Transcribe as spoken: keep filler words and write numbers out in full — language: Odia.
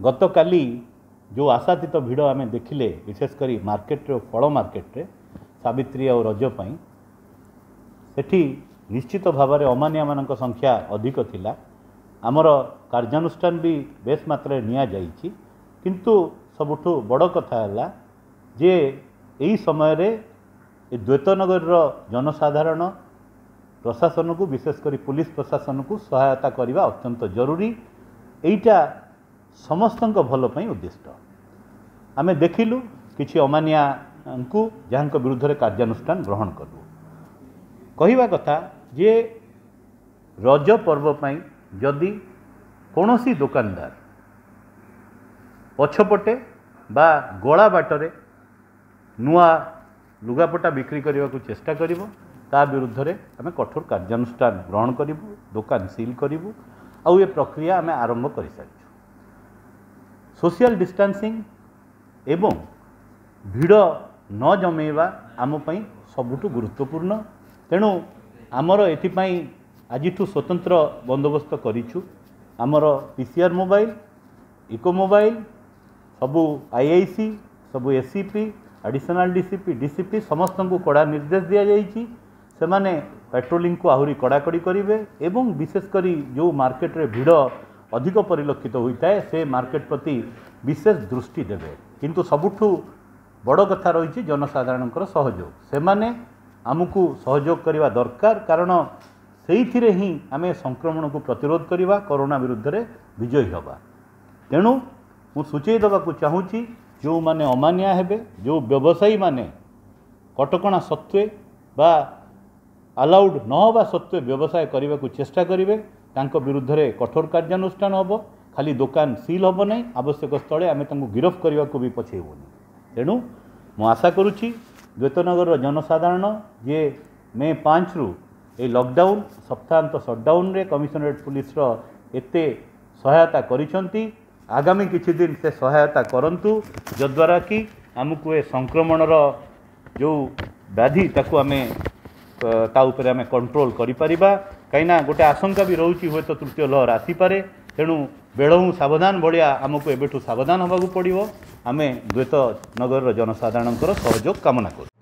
ଗତକାଲି ଯେଉଁ ଆଶାତୀତ ଭିଡ଼ ଆମେ ଦେଖିଲେ, ବିଶେଷ କରି ମାର୍କେଟରେ ଓ ଫଳ ମାର୍କେଟରେ ସାବିତ୍ରୀ ଆଉ ରଜ ପାଇଁ, ସେଠି ନିଶ୍ଚିତ ଭାବରେ ଅମାନିଆମାନଙ୍କ ସଂଖ୍ୟା ଅଧିକ ଥିଲା। ଆମର କାର୍ଯ୍ୟାନୁଷ୍ଠାନ ବି ବେଶ ମାତ୍ରାରେ ନିଆଯାଇଛି। କିନ୍ତୁ ସବୁଠୁ ବଡ଼ କଥା ହେଲା ଯେ ଏହି ସମୟରେ ଏ ଦ୍ୱୈତନଗରର ଜନସାଧାରଣ ପ୍ରଶାସନକୁ, ବିଶେଷ କରି ପୁଲିସ ପ୍ରଶାସନକୁ ସହାୟତା କରିବା ଅତ୍ୟନ୍ତ ଜରୁରୀ। ଏଇଟା ସମସ୍ତଙ୍କ ଭଲ ପାଇଁ ଉଦ୍ଦିଷ୍ଟ। ଆମେ ଦେଖିଲୁ କିଛି ଅମାନିଆଙ୍କୁ, ଯାହାଙ୍କ ବିରୁଦ୍ଧରେ କାର୍ଯ୍ୟାନୁଷ୍ଠାନ ଗ୍ରହଣ କଲୁ। କହିବା କଥା ଯେ ରଜ ପର୍ବ ପାଇଁ ଯଦି କୌଣସି ଦୋକାନଦାର ପଛପଟେ ବା ଗଳା ବାଟରେ ନୂଆ ଲୁଗାପଟା ବିକ୍ରି କରିବାକୁ ଚେଷ୍ଟା କରିବ, ତା ବିରୁଦ୍ଧରେ ଆମେ କଠୋର କାର୍ଯ୍ୟାନୁଷ୍ଠାନ ଗ୍ରହଣ କରିବୁ, ଦୋକାନ ସିଲ୍ କରିବୁ। ଆଉ ଏ ପ୍ରକ୍ରିୟା ଆମେ ଆରମ୍ଭ କରିସାରିଛୁ। ସୋସିଆଲ ଡିଷ୍ଟାନ୍ସିଂ ଏବଂ ଭିଡ଼ ନ ଜମେଇବା ଆମ ପାଇଁ ସବୁଠୁ ଗୁରୁତ୍ୱପୂର୍ଣ୍ଣ। ତେଣୁ ଆମର ଏଥିପାଇଁ ଆଜିଠୁ ସ୍ୱତନ୍ତ୍ର ବନ୍ଦୋବସ୍ତ କରିଛୁ। ଆମର P C R mobile, eco mobile, ସବୁ I I C, ସବୁ A C P, additional D C P, D C P ସମସ୍ତଙ୍କୁ କଡ଼ା ନିର୍ଦ୍ଦେଶ ଦିଆଯାଇଛି। ସେମାନେ ପାଟ୍ରୋଲିଂକୁ ଆହୁରି କଡ଼ାକଡ଼ି କରିବେ ଏବଂ ବିଶେଷ କରି ଯେଉଁ ମାର୍କେଟରେ ଭିଡ଼ ଅଧିକ ପରିଲକ୍ଷିତ ହୋଇଥାଏ, ସେ ମାର୍କେଟ ପ୍ରତି ବିଶେଷ ଦୃଷ୍ଟି ଦେବେ। କିନ୍ତୁ ସବୁଠୁ ବଡ଼ କଥା ରହିଛି ଜନସାଧାରଣଙ୍କର ସହଯୋଗ। ସେମାନେ ଆମକୁ ସହଯୋଗ କରିବା ଦରକାର, କାରଣ ସେଇଥିରେ ହିଁ ଆମେ ସଂକ୍ରମଣକୁ ପ୍ରତିରୋଧ କରିବା, କରୋନା ବିରୁଦ୍ଧରେ ବିଜୟୀ ହେବା। ତେଣୁ ମୁଁ ସୂଚେଇ ଦେବାକୁ ଚାହୁଁଛି, ଯେଉଁମାନେ ଅମାନିଆ ହେବେ, ଯେଉଁ ବ୍ୟବସାୟୀମାନେ କଟକଣା ସତ୍ତ୍ୱେ ବା ଆଲାଉଡ଼ ନ ହେବା ସତ୍ତ୍ୱେ ବ୍ୟବସାୟ କରିବାକୁ ଚେଷ୍ଟା କରିବେ, ତାଙ୍କ ବିରୁଦ୍ଧରେ କଠୋର କାର୍ଯ୍ୟାନୁଷ୍ଠାନ ହେବ। ଖାଲି ଦୋକାନ ସିଲ୍ ହେବ ନାହିଁ, ଆବଶ୍ୟକ ସ୍ଥଳେ ଆମେ ତାଙ୍କୁ ଗିରଫ କରିବାକୁ ବି ପଛେଇବୁନି। ତେଣୁ ମୁଁ ଆଶା କରୁଛି ଦ୍ୱୈତନଗରର ଜନସାଧାରଣ ଯିଏ ମେ ପାଞ୍ଚରୁ ଏଇ ଲକଡାଉନ୍, ସପ୍ତାହାନ୍ତ ସଟ୍ଡାଉନ୍ରେ କମିଶନରେଟ୍ ପୁଲିସର ଏତେ ସହାୟତା କରିଛନ୍ତି, ଆଗାମୀ କିଛି ଦିନ ସେ ସହାୟତା କରନ୍ତୁ, ଯଦ୍ୱାରା କି ଆମକୁ ଏ ସଂକ୍ରମଣର ଯେଉଁ ବ୍ୟାଧି ତାକୁ ଆମେ ତା ଉପରେ ଆମେ କଣ୍ଟ୍ରୋଲ କରିପାରିବା। କାହିଁକିନା ଗୋଟେ ଆଶଙ୍କା ବି ରହୁଛି, ହୁଏତ ତୃତୀୟ ଲହର ଆସିପାରେ। ତେଣୁ ବେଳହୁଁ ସାବଧାନ ଭଳିଆ ଆମକୁ ଏବେଠୁ ସାବଧାନ ହେବାକୁ ପଡ଼ିବ। ଆମେ ଦ୍ୱୈତ ନଗରର ଜନସାଧାରଣଙ୍କର ସହଯୋଗ କାମନା କରୁ।